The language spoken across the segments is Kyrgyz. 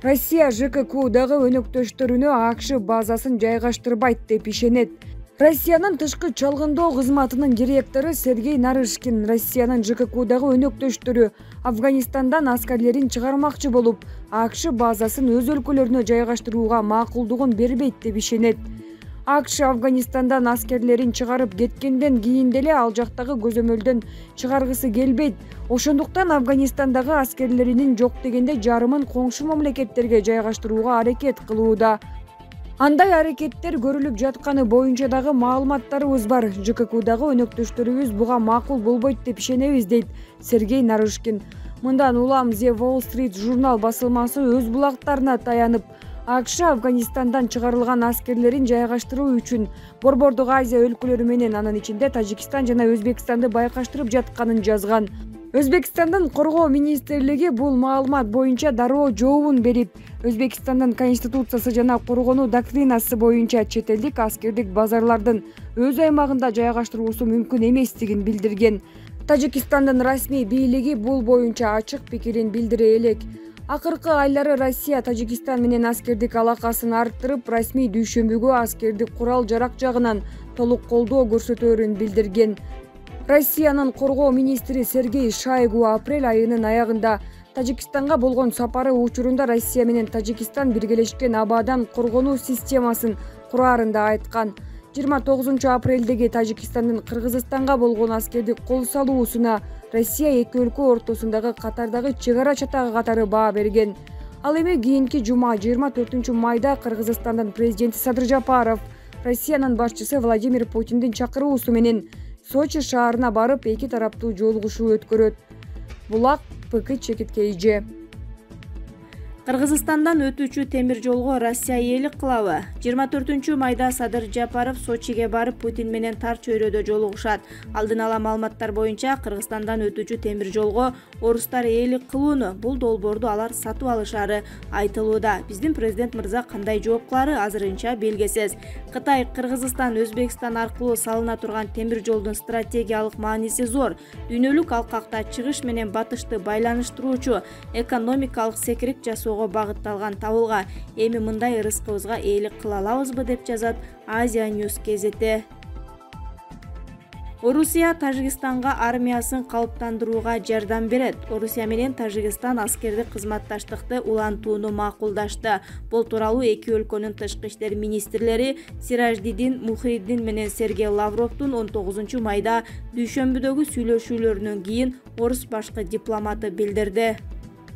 Россия ЖККдагы өнөктөштөрүнө АКШ базасын жайгаштырбайт деп ишенет. Россиянын тышкы чалгындоо кызматынын директору Сергей Нарышкин Россиянын ЖККдагы өнөктөштөрү Афганистандан аскерлерин чыгармакчы болуп, АКШ базасын өз өлкөлөрүнө жайгаштырууга макулдугун бербейт деп ишенет. АКШ Афганистандан аскерлерин чыгарып кеткенден кийин деле ал жактагы көзөмөлдөн чыгаргысы келбейт. Ошондуктан Афганистандагы аскерлеринин жок дегенде жарымын коңшу мамлекеттерге жайгаштырууга аракет кылууда. Андай аракеттер көрүлүп жатканы боюнча дагы маалыматтарыбыз бар. ЖККдагы өнөктөштөрүбүз буга макул болбойт деп ишенебиз, дейт Сергей Нарышкин. Мындан улам The Wall Street журнал басылмасы өз булактарына таянып, АКШ Афганистандан чыгарылган аскерлерин жайгаштыруу үчүн Борбордук Азия өлкөлөрү менен, анын ичинде Тажикстан жана Өзбекстанды байкаштырып жатканын жазган. Өзбекстандын коргоо министрлиги бул маалымат боюнча дароо жообун берип, Өзбекстандын конституциясы жана коргонуу доктринасы боюнча чет элдик аскердик базарлардын өз аймагында жайгаштыруусу мүмкүн эместигин билдирген. Тажикстандын расмий бийлиги бул боюнча ачык пикирин билдире элек. Акыркы айлары Россия Тажикстан менен аскердик алакасын арттырып, расмий дүйшөмбүгө аскердик курал-жарак жагынан толук колдоо көрсөтөөрүн билдирген. Россиянын коргоо министри Сергей Шойгу апрель айынын аягында Тажикстанга болгон сапары учурунда Россия менен Тажикстан биргелешкен абадан коргонуу системасын кураарында айткан. 29 апрелдеги Тажикстандын Кыргызстанга болгон аскердик кол салуусуна Россия эки өлкө ортосундагы катардагы чек ара чатагы катары баа берген. Ал эми кийинки жума 24 майда Кыргызстандын президенти Садыр Жапаров Россиянын башчысы Владимир Путиндин чакыруусу менен Сочи шаарына барып, эки тараптуу жолугушуу өткөрөт. Булак ПК чекиткейже. Кыргызстандан өтүүчү темир жолго Россия ээлик кылабы? 24 майда Садыр Жапаров Сочиге барып Путин менен тар чөйрөдө жолугушат. Алдын ала маалыматтар боюнча Кыргызстандан өтүүчү темир жолго орустар ээлик кылууну, бул долбоорду алар сатып алышары айтылууда. Биздин президент мырза кандай жооп кылары азырынча белгисиз. Кытай, Кыргызстан, Өзбекстан аркылуу салына турган темир жолдун стратегиялык мааниси зор. Дүйнөлүк алкакта чыгыш менен батышты байланыштыруучу экономикалык секирик жасоо багытталган табылга. Эми мындай ырыскыбызга ээлик кыла алабызбы деп жазат Азия News кезети. Орусия Тажикстанга армиясын калыптандырууга жардам берет. Орусия менен Тажикстан аскердик кызматташтыкты улантууну макулдашты. Бул тууралуу эки өлкөнүн тышкы иштер министрлери Сираждидин Мухриддин менен Сергей Лавровдун 19 майда дүйшөмбүдөгү сүйлөшүүлөрүнөн кийин орус башкы дипломаты билдирди.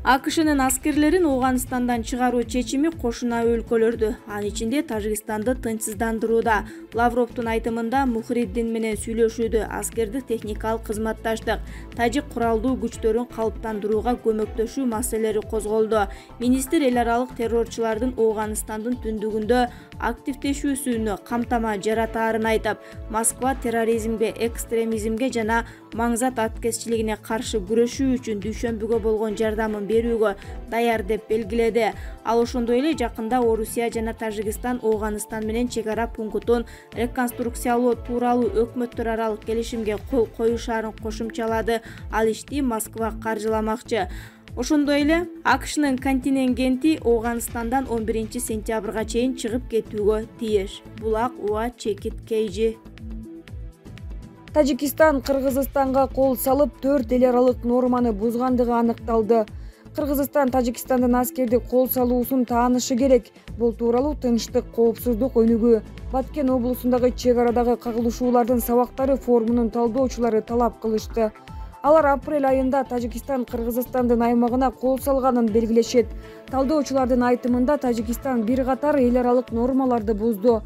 АКШнын аскерлерин Ооганстандан чыгаруу чечими кошуна өлкөлөрдү, анын ичинде Тажикстанды тынчсыздандырууда. Лавровдун айтымында Мухриддин менен сүйлөшүүдө аскердик техникалык кызматташтык, тажик куралдуу күчтөрүн калыптандырууга көмөктөшүү маселелери козголду. Министр эл аралык террорчулардын Ооганстандын түндүгүндө активдешүүсүнө камтама жаратаарын айтып, Москва терроризмге, экстремизмге жана маңзат аткезчилигине каршы күрөшүү үчүн дүйшөмбүгө болгон жардамын берүүгө даяр деп белгиледи. Ал ошондой эле жакында Орусия жана Тажикстан Ооганстан менен чек ара пунктун реконструкциялоо тууралуу өкмөттөр аралык келишимге кол коюшаарын кошумчалады. Ал ишти Москва каржыламакчы. Ошондой эле АКШнын контингенти Ооганстандан 11 сентябрга чейин чыгып кетүүгө тийиш. Булак УА чекиткейжи. Тажикстан Кыргызстанга кол салып, 4 эл аралык норманы бузгандыгы аныкталды. Кыргызстан Тажикстандын аскердик кол салуусун таанышы керек. Бул тууралуу Тынчтык, коопсуздук өнүгүү Баткен облусундагы чек арадагы кагылышуулардын сабактары форумунун талдоочулары талап кылышты. Алар апрель айында Тажикстан Кыргызстандын аймагына кол салганын белгилешет. Талдоочулардын айтымында Тажикстан бир катар эл аралык нормаларды бузду.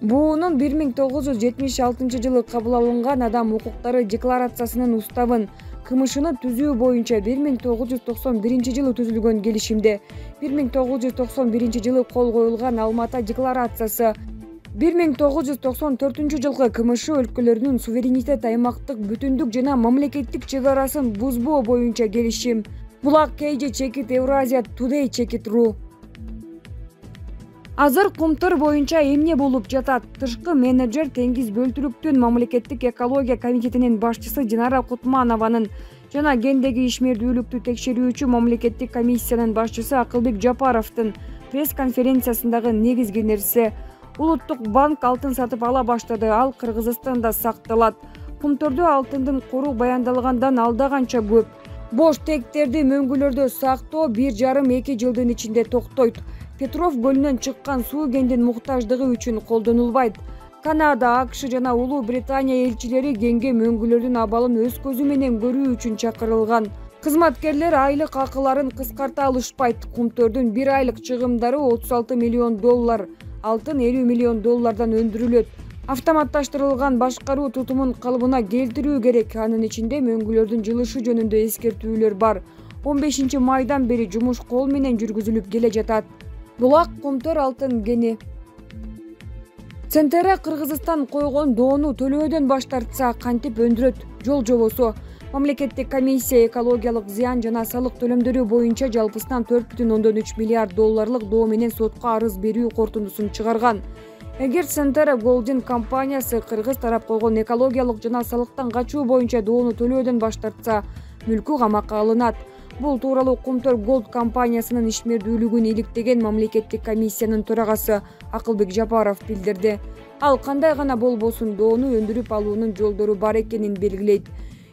Буунун 1976 жылы кабыл алынган адам укуктары декларациясынын уставын, КМШны түзүү боюнча 1991 жылы түзүлгөн келишимде, 1991 жылы кол коюлган Алмата декларациясы, 1994 жылкы КМШ өлкөлөрүнүн суверенитет, аймактык бүтүндүк жана мамлекеттик чек арасын бузбоо боюнча келишим. Булак KG Чекит Евразия Today Чекит.ру. Азыр Кумтөр боюнча эмне болуп жатат? Тышкы менеджер Теңиз Бөлтүрүктүн мамлекеттик экология комитетинин башчысы Динара Кутманованын жана гендеги ишмердүүлүктү текшерүүчү мамлекеттик комиссиянын башчысы Акылбек Жапаровдун пресс-конференциясындагы негизги нерсе Улуттук банк алтын сатып ала баштады, ал Кыргызстанда сакталат. Кумтөрдө алтындын кору баяндалгандан алда канча көп. Бош тектерди мөңгүлөрдө сактоо 1,5-2 жылдын ичинде токтойт. Петров көлүнөн чыккан суу гендин муктаждыгы үчүн колдонулбайт. Канада, АКШ жана Улуу Британия элчилери генге мөңгүлөрдүн абалын өз көзү менен көрүү үчүн чакырылган. Кызматкерлер айлык акыларын кыскарта алышпайт. Кумтөрдүн 1 айлык чыгымдары $36 миллион, алтын $50 миллион өндүрүлөт. Автоматташтырылган башкаруу тутумун калыбына келтирүү керек. Анын ичинде мөңгүлөрдүн жылышы жөнүндө эскертүүлөр бар. 15 майдан бери жумуш кол менен жүргүзүлүп келе жатат. Булак Кумтөр алтын кени. Центера Кыргызстан койгон доону төлөөдөн баш тартса кантип өндүрөт? Жол жобосу. Мамлекеттик комиссия экологиялык зыян жана салык төлөмдөрү боюнча жалпысынан $4,3 миллиард доо менен сотко арыз берүү корутундусун чыгарган. Эгер Центера Голдинг компаниясы кыргыз тарап койгон экологиялык жана салыктан качуу боюнча доону төлөөдөн баш тартса, мүлкү камакка алынат. Бул тууралуу Кумтөр Голд компаниясынын ишмердүүлүгүн иликтеген мамлекеттик комиссиянын төрагасы Акылбек Жапаров билдирди. Ал кандай гана болбосун доону өндүрүп алуунун жолдору бар экенин белгилейт.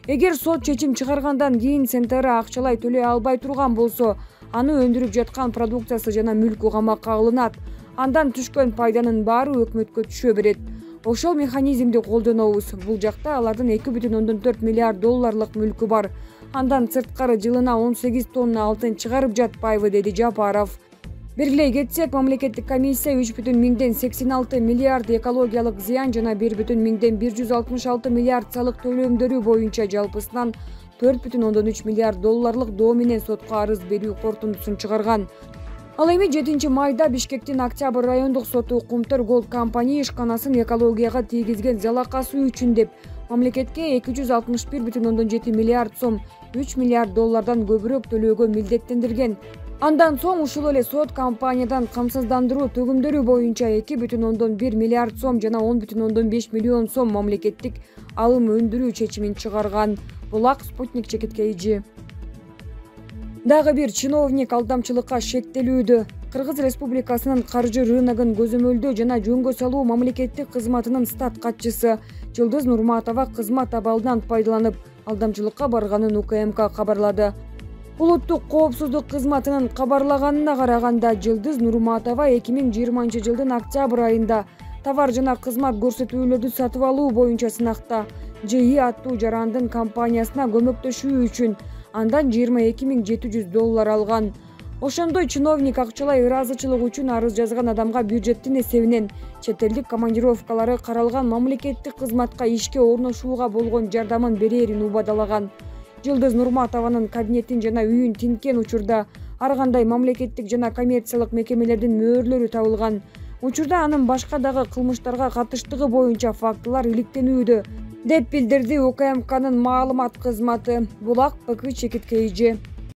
Эгер сот чечим чыгаргандан кийин Центера акчалай төлөй албай турган болсо, аны өндүрүп жаткан продукциясы жана мүлкү камакка алынат. Андан түшкөн пайданын баары өкмөткө түшө берет. Ошол механизмди колдонобуз. Бул жакта алардын $2,4 миллиард мүлкү бар. Андан сырткары жылына 18 тонна алтын чыгарып жатпайбы, деди Жапаров. Белгилей кетсек, мамлекеттик комиссия 3,86 миллиард экологиялык зыян жана 1,166 миллиард салык төлөмдөрү боюнча жалпысынан $4,3 миллиард доо менен сотко арыз берүү корутундусун чыгарган. Ал эми 7 майда Бишкектин Октябрь райондук соту Кумтөр Голд компания ишканасын экологияга тийгизген залакасы үчүн деп мамлекетке $261,7 миллиард сом, $3 миллиард көбүрөөк төлөөгө милдеттендирген. Андан соң ушул эле сот компаниядан камсыздандыруу төгүмдөрү боюнча $2,1 миллиард сом жана $10,5 миллион сом мамлекеттик алым өндүрүү чечимин чыгарган. Булак Спутник чекиткейжи. Дагы бир чиновник алдамчылыкка шектелүүдө. Кыргыз Республикасынын каржы рыногун көзөмөлдөө жана жөнгө салуу мамлекеттик кызматынын стат катчысы Жылдыз Нурматова кызмат абалынан пайдаланып алдамчылыкка барганын УКМК кабарлады. Улуттук коопсуздук кызматынын кабарлаганына караганда, Жылдыз Нурматова 2020 жылдын октябрь айында товар жана кызмат көрсөтүүлөрдү сатып алуу боюнча сынакта ЖИ аттуу жарандын компаниясына көмөктөшүү үчүн андан $22,700 алган. Ошондой чиновник акчалай ыраазычылык үчүн арыз жазган адамга бюджеттин эсебинен чет элдик командировкалары каралган мамлекеттик кызматка ишке орношууга болгон жардамын берерин убадалаган. Жылдыз Нурматованын кабинетин жана үйүн тинткен учурда ар кандай мамлекеттик жана коммерциялык мекемелердин мөөрлөрү табылган. Учурда анын башка дагы кылмыштарга катыштыгы боюнча фактылар иликтенүүдө, деп билдирди УКМКнын маалымат кызматы. Булак ПК чекиткейжи.